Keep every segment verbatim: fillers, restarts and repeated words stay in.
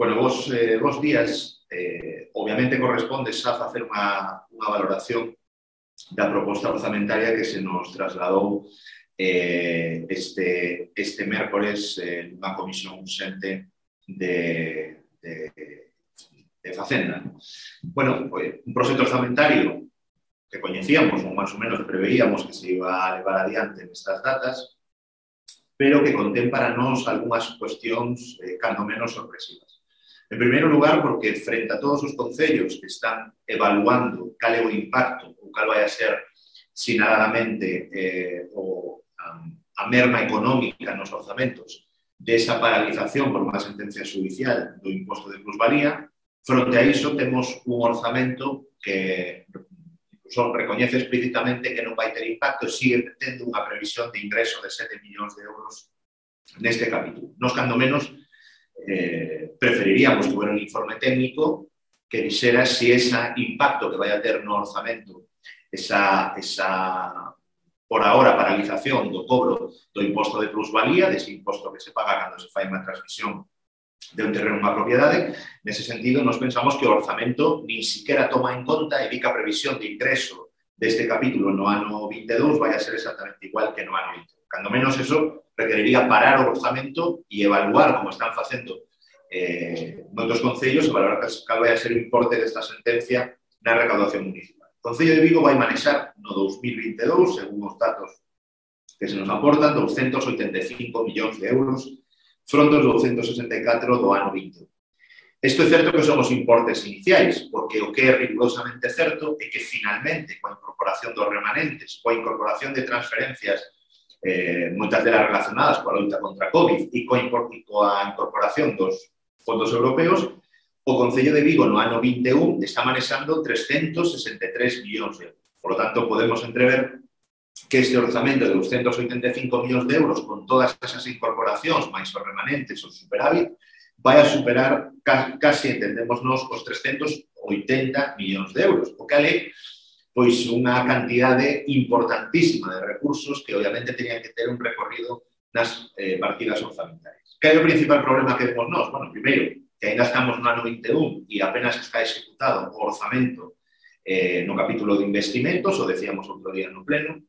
Bueno, vos, eh, vos días, eh, obviamente corresponde xa facer unha, unha valoración da proposta orzamentaria que se nos trasladou eh, este, este mércores en eh, unha comisión urxente de, de, de Facenda. Bueno, pues, un proxecto orzamentario que coñecíamos, ou máis ou menos preveíamos que se iba a levar adiante nestas datas, pero que contén para nós algunhas cuestións eh, cando menos sorpresivas. En primeiro lugar, porque frente a todos os concellos que están evaluando cal é o impacto ou cal vai a ser sinaladamente eh, o, a, a merma económica nos orzamentos desa paralización por unha sentencia judicial do imposto de plusvalía, fronte a iso temos un orzamento que incluso recoñece explícitamente que non vai ter impacto e sigue tendo unha previsión de ingreso de sete millóns de euros neste capítulo. Nos, cando menos, eh, preferiríamos que hubiera un informe técnico que dixera si ese impacto que vai a ter no orzamento, esa, esa por ahora paralización do cobro do imposto de plusvalía, dese imposto que se paga cando se fai unha transmisión de un terreno a unha propiedade. Nese sentido, nos pensamos que o orzamento nin siquiera toma en conta e di que a previsión de ingreso deste capítulo no ano vinte e dous vai a ser exactamente igual que no ano vinte. Cando menos eso requeriría parar o orzamento e evaluar, como están facendo eh, moitos concellos, evaluar cal vai a ser o importe desta sentencia na recaudación municipal. O Concello de Vigo vai manexar no dos mil vinte e dous, según os datos que se nos aportan, doscientos oitenta e cinco millóns de euros fronte aos doscientos sesenta e catro do ano vinte. Isto é certo que son os importes iniciais, porque o que é rigurosamente certo é que finalmente, coa incorporación dos remanentes, coa incorporación de transferencias, eh, moitas delas relacionadas coa loita contra a COVID e coa, coa incorporación dos fondos europeos, o Concello de Vigo no ano vinte e un está manexando trescentos sesenta e tres millóns de euros. Por lo tanto, podemos entrever que este orzamento de doscientos oitenta e cinco millóns de euros con todas esas incorporacións, máis os remanentes, o superávit, vai a superar, casi entendemos nos, os trescentos oitenta millóns de euros, o que é pois unha cantidade importantísima de recursos que obviamente tenían que ter un recorrido nas eh, partidas orzamentarias. Que é o principal problema que vemos nós? Bueno, primeiro, que ainda estamos no ano vinte e un e apenas está executado o orzamento eh, no capítulo de investimentos, o decíamos outro día no pleno,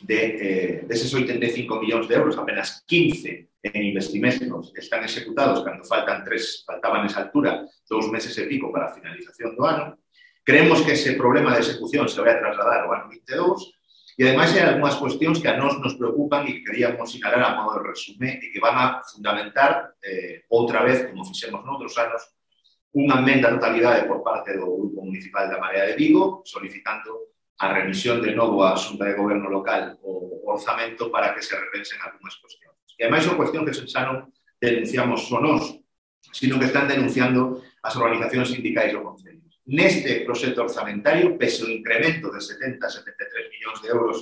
de, eh, deses oitenta e cinco millóns de euros, apenas quince en investimentos que están executados cando faltan tres, faltaban nesa altura dous meses e pico para a finalización do ano. Creemos que ese problema de execución se vai a trasladar ao ano vinte e dous e, ademais, hai algunhas cuestións que a nós nos preocupan e que queríamos sinalar a modo de resume e que van a fundamentar eh, outra vez, como fixemos noutros anos, unha emenda a totalidade por parte do Grupo Municipal da Marea de Vigo, solicitando a remisión de novo á Xunta de Goberno Local o orzamento para que se repensen algunhas cuestións. E, ademais, son cuestión que xa non denunciamos só nós, sino que están denunciando as organizacións sindicais do Concello. Neste proxecto orzamentario, pese o incremento de setenta a setenta e tres millóns de euros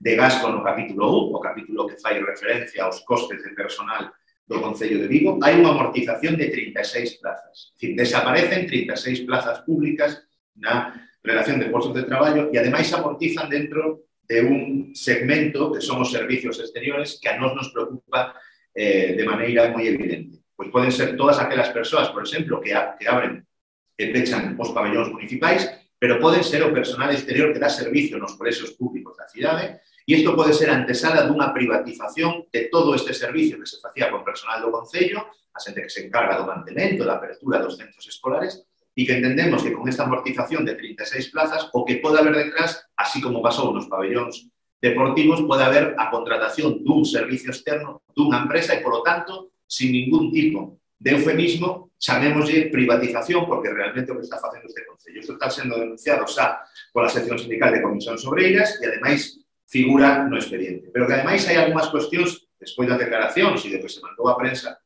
de gasto no capítulo un, o capítulo que fai referencia aos costes de personal do Concello de Vigo, hai unha amortización de trinta e seis plazas. Es decir, desaparecen trinta e seis plazas públicas na relación de postos de traballo e, ademais, amortizan dentro de un segmento que son os servicios exteriores que a nós nos preocupa eh, de maneira moi evidente. Pois poden ser todas aquelas persoas, por exemplo, que, a, que abren e pechan os pabellóns municipais, pero poden ser o personal exterior que dá servicio nos colexios públicos da cidade, e isto pode ser antesala dunha privatización de todo este servicio que se facía con personal do Concello, a xente que se encarga do mantemento, da apertura dos centros escolares, e que entendemos que con esta amortización de trinta e seis plazas, o que pode haber detrás, así como pasou nos pabellóns deportivos, pode haber a contratación dun servicio externo dunha empresa e, polo tanto, sin ningún tipo de eufemismo, chamémoslle privatización, porque realmente o que está facendo este Concello. Isto está sendo denunciado xa pola sección sindical de Comisións Obreiras e, ademais, figura no expediente. Pero que, ademais, hai algunhas cuestións, despois das declaracións e de que se mandou a prensa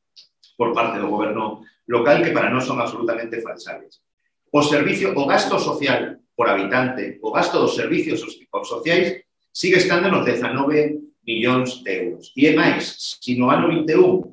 por parte do goberno local, que para nós son absolutamente falsables. O servicio, o gasto social por habitante, o gasto dos servicios sociais, sigue estando nos dezanove millóns de euros. E, é máis, se no ano vinte e un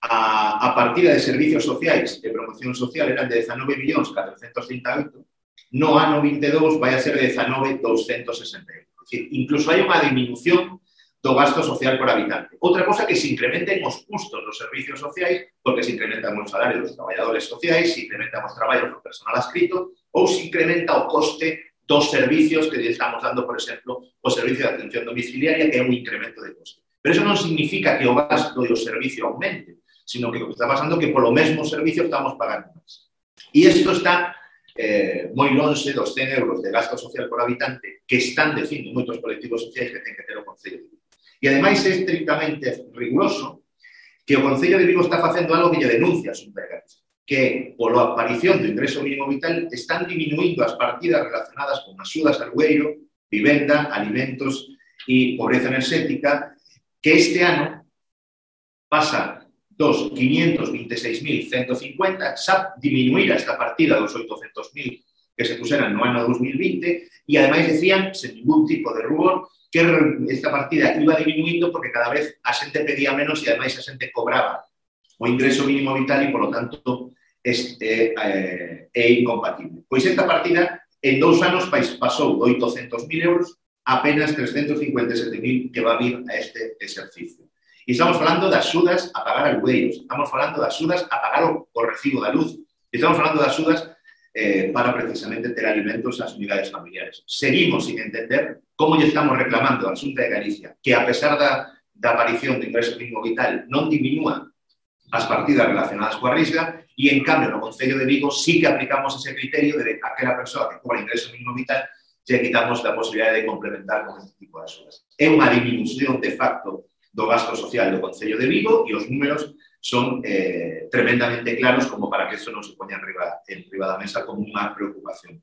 A, a partida de servicios sociais de promoción social eran de dezanove millóns catrocentos trinta e oito, no ano vinte e dous vai a ser de dezanove millóns doscientos sesenta e oito. É dicir, incluso hai unha disminución do gasto social por habitante. Outra cosa que se incrementen os custos dos servicios sociais, porque se incrementan os salarios dos traballadores sociais, se incrementan os traballos do personal adscrito, ou se incrementa o coste dos servicios que estamos dando, por exemplo, o servicio de atención domiciliaria, que é un incremento de coste. Pero eso non significa que o gasto e o servicio aumente, sino que o que está pasando é que polo mesmo servicio estamos pagando máis. E isto está eh, moi lonxe dos cen euros de gasto social por habitante que están dicindo moitos colectivos sociais que ten que ter o Concello de Vigo. E, ademais, é estrictamente riguroso que o Concello de Vigo está facendo algo que lle denuncia a Xunta de Galicia, que, pola aparición do ingreso mínimo vital, están diminuindo as partidas relacionadas con axudas al alugueiro, vivenda, alimentos e pobreza enerxética, que este ano pasa dos quinientos veintiséis mil ciento cincuenta, xa diminuir esta partida dos oitocentos mil que se puseran no ano dos mil vinte, e, ademais, decían, sen ningún tipo de rubor, que esta partida iba disminuindo porque cada vez a xente pedía menos e, ademais, a xente cobraba o ingreso mínimo vital e, polo tanto, este, eh, é incompatible. Pois esta partida, en dous anos, pasou de oitocentos mil euros a apenas trescentos cincuenta e sete mil que va a vir a este exercicio. E estamos falando de axudas a pagar alugueiros, estamos falando de axudas a pagar o, o recibo da luz, estamos falando de axudas eh, para precisamente ter alimentos ás unidades familiares. Seguimos sin entender como lle estamos reclamando a Xunta de Galicia que, a pesar da, da aparición do ingreso mínimo vital, non diminúa as partidas relacionadas coa risga e, en cambio, no Concello de Vigo sí que aplicamos ese criterio de que aquela persoa que cobra ingreso mínimo vital lle quitamos a posibilidade de complementar con este tipo de axudas. É unha disminución de facto do gasto social do Concello de Vigo e os números son eh, tremendamente claros como para que eso non se poña en riba, en riba da mesa como unha preocupación.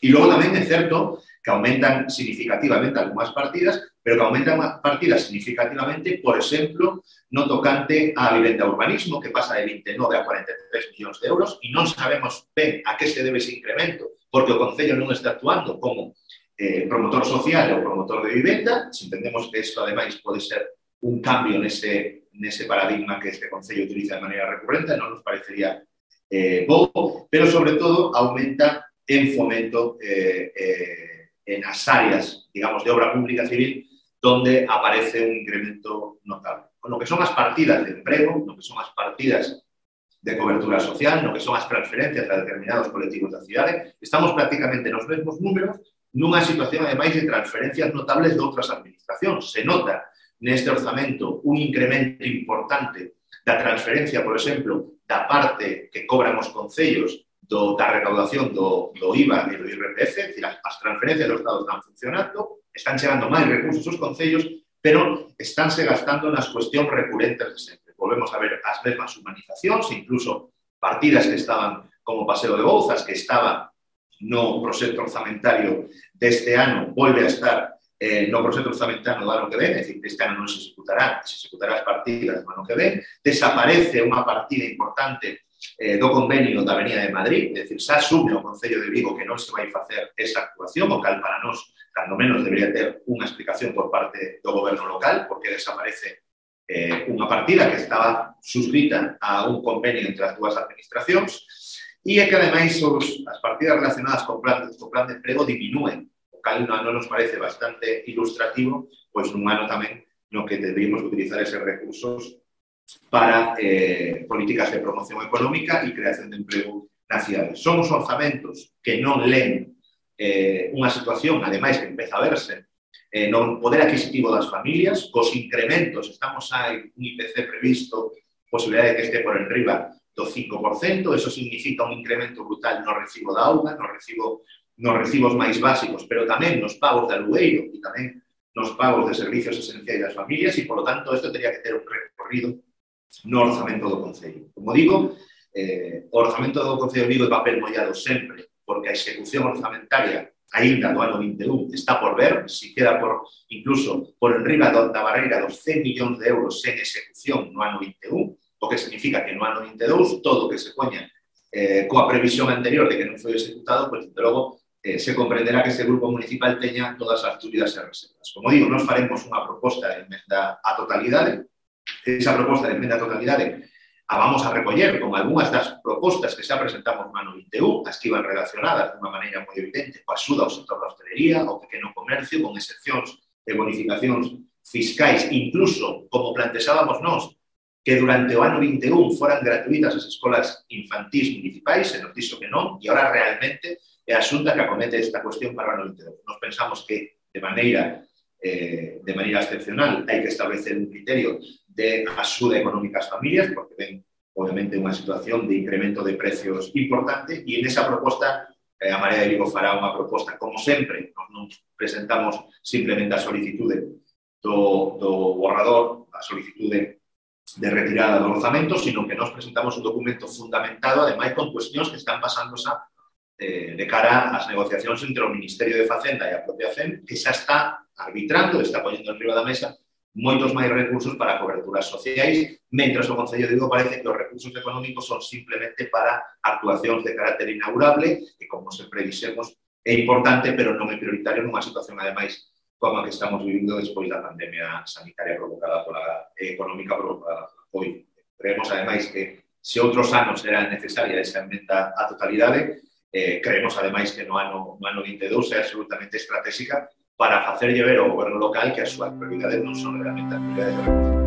E logo tamén é certo que aumentan significativamente algunhas partidas, pero que aumentan partidas significativamente, por exemplo, no tocante á vivenda e urbanismo, que pasa de vinte e nove a cuarenta e tres millóns de euros, e non sabemos ben a que se debe ese incremento, porque o Concello non está actuando como eh, promotor social ou promotor de vivenda. Se entendemos que isto, ademais, pode ser un cambio nese, nese paradigma que este Concello utiliza de maneira recurrente, non nos parecería eh, bo, pero, sobre todo, aumenta en fomento eh, eh, en as áreas, digamos, de obra pública civil, donde aparece un incremento notable. Con lo que son as partidas de emprego, no que son as partidas de cobertura social, no que son as transferencias a determinados colectivos da cidade, estamos prácticamente nos mesmos números nunha situación, ademais, de transferencias notables de outras administracións. Se nota neste orzamento un incremento importante da transferencia, por exemplo, da parte que cobran os concellos do, da recaudación do, do I V A e do I R P F, é dicir, as transferencias do Estado están funcionando, están chegando máis recursos aos concellos, pero estánse gastando nas cuestións recurrentes de sempre. Volvemos a ver as mesmas humanizacións, incluso partidas que estaban como Paseo de Bouzas, que estaba no proxecto orzamentario deste ano, volve a estar Eh, no proxecto orzamentario do ano que ven, é dicir, este ano non se executará, se executará as partidas do ano que ven, desaparece unha partida importante eh, do convenio da Avenida de Madrid, é dicir, xa asume o Concello de Vigo que non se vai facer esa actuación, o cal para nós, cando menos, debería ter unha explicación por parte do goberno local, porque desaparece eh, unha partida que estaba suscrita a un convenio entre as dúas administracións, e é que, ademais, os, as partidas relacionadas con plan, con plan de emprego diminúen, cal non nos parece bastante ilustrativo, pois nun ano tamén no que deberíamos utilizar eses recursos para eh, políticas de promoción económica e creación de emprego na cidade. Son os orzamentos que non leen eh, unha situación, ademais, que empeza a verse eh, no poder adquisitivo das familias, cos incrementos, estamos hai un I P C previsto, posibilidade de que este por enriba do cinco por cento, eso significa un incremento brutal no recibo da auga, no recibo nos recibos máis básicos, pero tamén nos pagos de alugueiro e tamén nos pagos de servicios esenciais das familias e, polo tanto, isto teria que ter un recorrido no orzamento do Concello. Como digo, eh, o orzamento do Concello de Vigo é papel mollado sempre, porque a execución orzamentaria aínda do ano vinte e un está por ver, se queda por, incluso por enriba da barreira dos cen millóns de euros sen execución no ano vinte e un, o que significa que no ano vinte e dous todo o que se poña eh, coa previsión anterior de que non foi executado, pois, desde logo, Eh, se comprenderá que este grupo municipal teña todas as dúbidas e reservas. Como digo, nós faremos unha proposta de emenda á totalidade. Esa proposta de emenda á totalidade a vamos a recoller con algunhas das propostas que xa presentamos no ano vinte e un, as que iban relacionadas de unha maneira moi evidente coa axuda ao sector da hostelería, ao pequeno comercio, con excepcións e bonificacións fiscais, incluso, como plantexábamos nós, que durante o ano vinte e un foran gratuitas as escolas infantís municipais, se nos dixo que non, e agora realmente é a Xunta que acomete esta cuestión para o ano vinte e dous. Nos pensamos que, de maneira, eh, de maneira excepcional, hai que establecer un criterio de axuda económica ás familias, porque ven, obviamente, unha situación de incremento de precios importante, e en esa proposta, eh, a Marea de Vigo fará unha proposta, como sempre, nos non presentamos simplemente a solicitude do, do borrador, a solicitude de retirada do orzamento, sino que nos presentamos un documento fundamentado, ademais, con cuestións que están pasándose eh, de cara ás negociacións entre o Ministerio de Facenda e a propia C E M, que xa está arbitrando, está poñendo en riba da mesa moitos máis recursos para coberturas sociais, mentre o Concello de Vigo parece que os recursos económicos son simplemente para actuacións de carácter inaugurable, que, como sempre dixemos, é importante, pero non é prioritario nunha situación, ademais, como a que estamos vivindo despois da pandemia sanitaria provocada pola económica provocada pola COVID. Creemos, ademais, que se outros anos era necesaria esa emenda á totalidade, eh, creemos, ademais, que no ano, no ano vinte e dous é absolutamente estratégica para facerlle ver ao goberno local que as súas prioridades non son realmente as prioridades de recursos.